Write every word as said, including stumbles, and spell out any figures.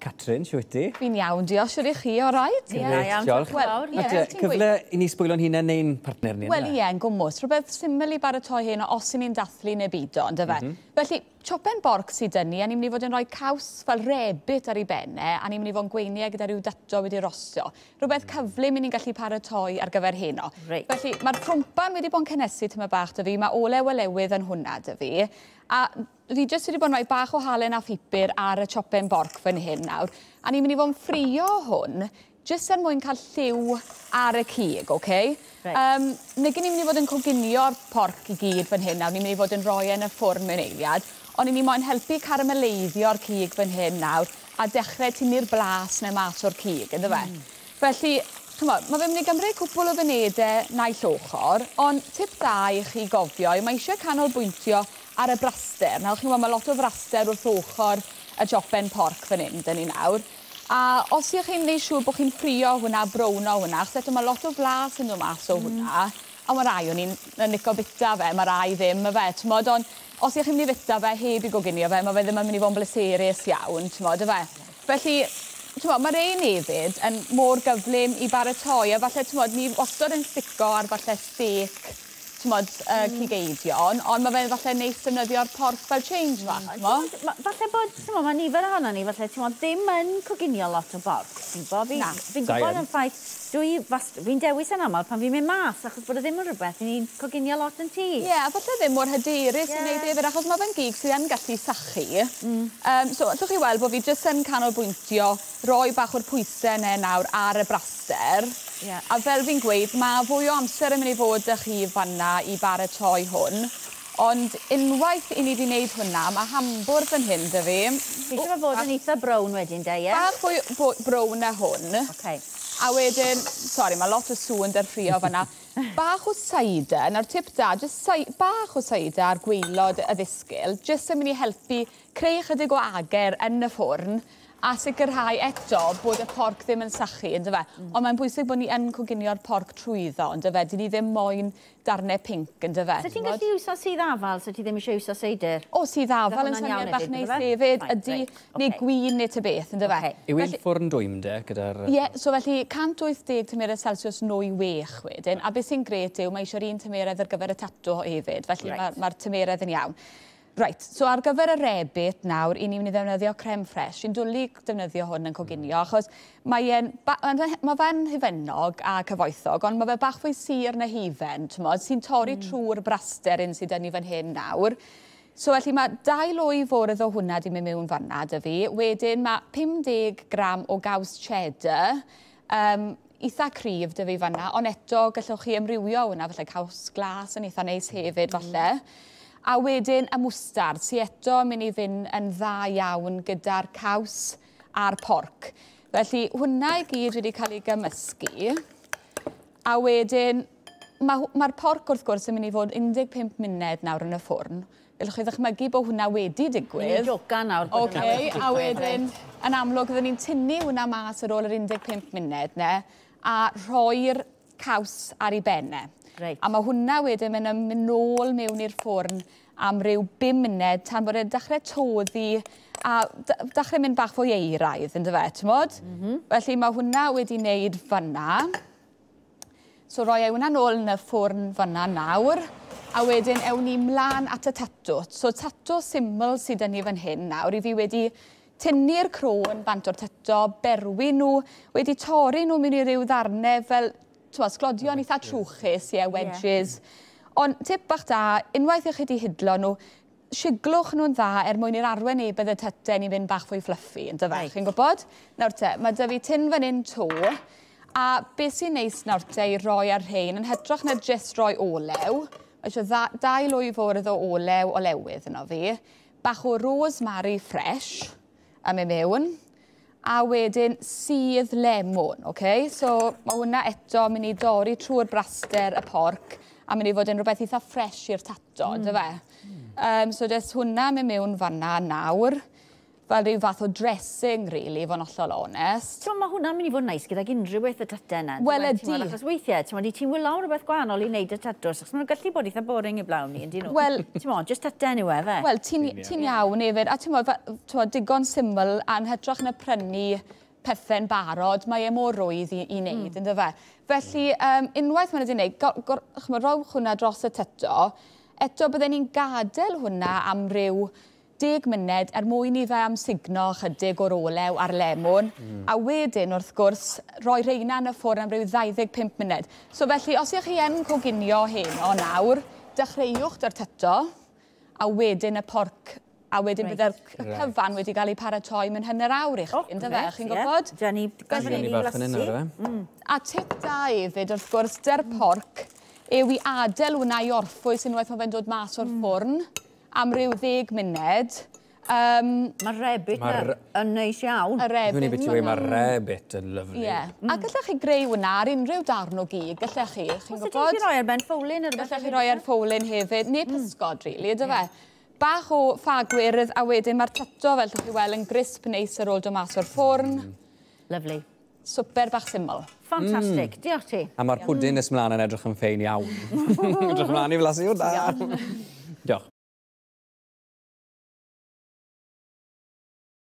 Catrin, siwt ti? Fi'n iawn, diolch. Siwr i chi, all right? Ie, iawn, diolch. Wel, ie, cyfle i ni sbwylo'n hunain neu'n partner ni. Wel, ie, yn gwmws. Rhywbeth syml i baratoi hyn os i ni'n dathlu neu bido, on'd yfe? Mm -hmm. Felly, chopen borc sydd 'da ni, a ni'n mynd i fod yn rhoi caws fel rebit ar ei benne, a ni'n mynd i fod yn gweini gyda rhyw dato wedi rostio. Rhywbeth cyflym i ni'n gallu paratoi ar gyfer heno. Reit. Felly, mae'r crwmpan wedi bod yn cynnesu tyma bach 'da fi, mae olew olewydd yn hwnna 'da fi, a fi jyst wedi bod yn rhoi bach o halen a phupur ar y chopen borc fan hyn nawr. A ni'n mynd i fod yn ffrio hwn, jyst er mwyn cael lliw ar y cig, oce? Reit. Um, nag ni'n mynd i fod yn coginio'r porc i gyd fan hyn nawr, ni'n mynd i fod yn rhoi e yn y ffwrn mewn eiliad, ond ni moyn helpu carameleiddio'r cig fan hyn nawr a dechrau tynnu'r blas 'na mas o'r cig, ynddo fe? Mm. Felly, ch'mod, mae fe'n mynd i gymryd cwpl o funudau naill ochr, ond tip da i chi gofio, mae eisiau canolbwyntio ar y braster. Nawr, chi'n gwybod, mae lot o fraster wrth ochr y chopen porc fan hyn, 'dyn ni nawr. A os ych chi'n neud siŵr bod chi'n ffrio hwnna, browno hwnna, achos eto mae lot o flas yn dod mas o hwnna, a mae rai o'n i'n licio bita fe, mae rai ddim, y fe, t'mod, ond os ych chi'n mynd i fita fe heb i goginio fe, mae fe ddim yn mynd i fod yn bleserus iawn, t'mod, y fe. Felly, t'mod, mae rein hefyd yn mor gyflym i baratoi, a falle, t'mod, ni wastad yn stico ar falle steak, t'mod, uh, mm. cig eidion, ond mae fe'n falle neis defnyddio'r porc fel change fach, t'mod? Ma- Falle bod, ti'n mae nifer ohono ni, falle, ti'n ddim yn coginio lot o borc. Ti'n gwybod, fi, Na. fi'n Da gwybod iawn. yn ffaith, dwi, fast, fi'n dewis yn aml pan fi'n mynd mas, achos bod e ddim yn rhywbeth i ni'n coginio lot yn tŷ. Ie, yeah, falle ddim mor hyderus i Ie. wneud hefyd, achos mae fe'n gig sydd yn gallu sychu. Mm. Um, so, allwch chi weld bod fi jyst yn canolbwyntio roi bach o'r pwysau yna nawr ar y braster. Ie. A fel fi'n gweud, mae fwy o amser yn mynd i fod 'da chi fanna i baratoi hwn. Ond unwaith i ni wedi wneud hwnna, mae hambwrdd fan hyn 'da fi. Fi eisiau fe fod yn eitha brown wedyn, de, ie? Bach fwy bo- brown na hwn. Okay. A wedyn, sori, mae lot o sŵn 'da'r ffrio fanna. Bach o cider, nawr tip da, jyst sai, bach o cider ar gwaelod y ddisgyl, jyst yn mynd i helpu creu chydig o ager yn y ffwrn a sicrhau eto bod y porc ddim yn sychu, ynddo fe? Mm. Ond mae'n bwysig bod ni yn coginio'r porc trwyddo, ynddo fe? Dyn ni ddim moyn darnau pinc, ynddo fe? So ti'n gallu iwso sudd afal, so ti ddim eisiau iwso seidr? O, sudd afal yn hwnna'n syniad iawn bach hefyd, neis bydde? hefyd, Right, ydy, reit, neu ocê. gwin neu ta beth, ynddo fe? Ocê. Yw e'n ffwrn dwym de, gyda'r... Ie, yeah, so felly cant wyth deg tymheredd Celsius nwy wech wedyn, a beth sy'n grêt yw mae eisiau'r un tymeredd ar gyfer y tato hefyd, felly Reit. mae'r ma tymeredd yn iawn. Reit, so ar gyfer y rebit nawr, i ni'n mynd i ddefnyddio creme fraiche. Fi'n dwlu defnyddio hwn yn coginio, achos mae e'n, ba- mae fe'n hufennog a cyfoethog, ond mae fe bach fwy sur na hufen, t'mod, sy'n torri mm. trwy'r braster un sydd 'da ni fan hyn nawr. So felly mae dau lwy fwrdd o hwnna di mynd mewn fanna 'da fi. Wedyn mae pum deg gram o gaws cheddar, um, eitha cryf 'da fi fanna, ond eto gallwch chi amrywio hwnna, falle caws glas yn eitha neis hefyd falle. A wedyn y mwstard, sy eto yn mynd i fynd yn dda iawn gyda'r caws a'r porc. Felly hwnna i gyd wedi cael ei gymysgu. A wedyn, mae'r ma porc wrth gwrs yn mynd i fod un deg pump munud nawr yn y ffwrn. Gallwch chi ddychmygu bod hwnna wedi digwydd. Ni'n jocan nawr bod hwnna Ocê, wedi a digwydd, wedyn, reit. yn amlwg, oedden ni'n tynnu hwnna mas ar ôl yr un deg pump munud 'ne, a rhoi'r caws ar ei benne. Reit. A mae hwnna wedyn mynd yn mynd nôl mewn i'r ffwrn am ryw bum munud tan bod e'n dechrau toddi a d- dechrau mynd bach fwy euraidd, ynddo fe, t'mod? Mm -hmm. Felly mae hwnna wedi wneud fanna. So roi e hwnna nôl yn y ffwrn fanna nawr. A wedyn ewn ni mlaen at y tatw. So tatw syml sydd 'da ni fan hyn nawr. I fi wedi tynnu'r croen bant o'r tato, berwi nhw, wedi torri nhw mewn i ryw ddarnau fel, t'mod, sglodion eitha trwchus, ie, wedges. Yeah. Ond tip bach da, unwaith i chi wedi hidlo nhw, siglwch nhw'n dda er mwyn i'r arwynebedd y tyten i fynd bach fwy fluffy, yndyfe? Reit. Chi'n gwybod? Nawr te, mae 'da fi tin fan hyn 'to, a beth sy'n neis nawr te i roi ar rhein, yn hytrach na jyst roi olew, mae eisiau dda, dau lwy fwrdd o olew olewydd yno fi, bach o rosemary fresh am i mewn, a wedyn sudd lemon, okay? So mae hwnna eto mynd i dorri trwy'r braster y porc a mynd i fod yn rhywbeth eitha fresh i'r tato, mm. dyfe? Mm. Um, so jyst hwnna mynd mewn fanna nawr. fel rhyw fath o dressing, really, i fod yn hollol onest. Ti'n mae hwnna'n mynd i fod yn neis gydag unrhyw beth y tatau yna. Wel, ydi. Achos weithiau, ti'n meddwl, ti'n wylo rhywbeth gwahanol i wneud y tatws, achos maen nhw'n gallu bod eitha boring i blawn ni, yndyn nhw? Wel- Ti'n meddwl, just tatau yw e, fe? Wel, ti'n ti iawn hefyd, a ti'n meddwl, digon syml, a'n hytrach na prynu pethau'n barod, mae e mor rwydd i, i wneud, mm. ynddo fe. Felly, um, unwaith mae'n wedi wneud, ch'mod, rowch hwnna dros y tyto, eto bydden ni'n gadael hwnna am ryw deg munud er mwyn i fe amsugno chydig o'r olew a'r lemwn, mm. a wedyn, wrth gwrs, rhoi rheina yn y ffwrn am ryw ddau ddeg pump munud. So felly, os ych chi yn coginio heno nawr, dechreuwch dy'r tyto, a wedyn y porc, a wedyn Reit. bydde'r c- Reit. cyfan wedi cael ei paratoi mewn hanner awr i chi, oh, ynddo fe, chi'n gwybod? Ie, ni Felly- Ni bach yn hyn nawr, e? A tip da hefyd, wrth gwrs, dy'r porc yw i adael hwnna i orffwys unwaith mae fe'n dod mas o'r ffwrn am ryw ddeg munud. Um, Mae'r rebit Ma'r- na yn neis iawn. y rebit. Dwi'n ei bit i weud, mae'r rebit yn lyfli. Ie. A gallech chi greu hwnna ar unrhyw darn o gig, gallech chi, chi'n Os ydych gwybod? chi'n rhoi ar ben ffowlyn neu rhywbeth? Gallech chi roi ar ffowlyn hefyd, neu pysgod, really, ydw fe? Bach o ffa gwyrdd, a wedyn mae'r tato, fel llwch chi weld, yn grisp neis ar ôl dod mas o'r ffwrn. Lovely. Swper bach syml. Fantastic. Diolch ti. A mae'r pwdin nes mlaen yn edrych yn ffein iawn. Edrych mlaen i flasu hwnna. Diolch.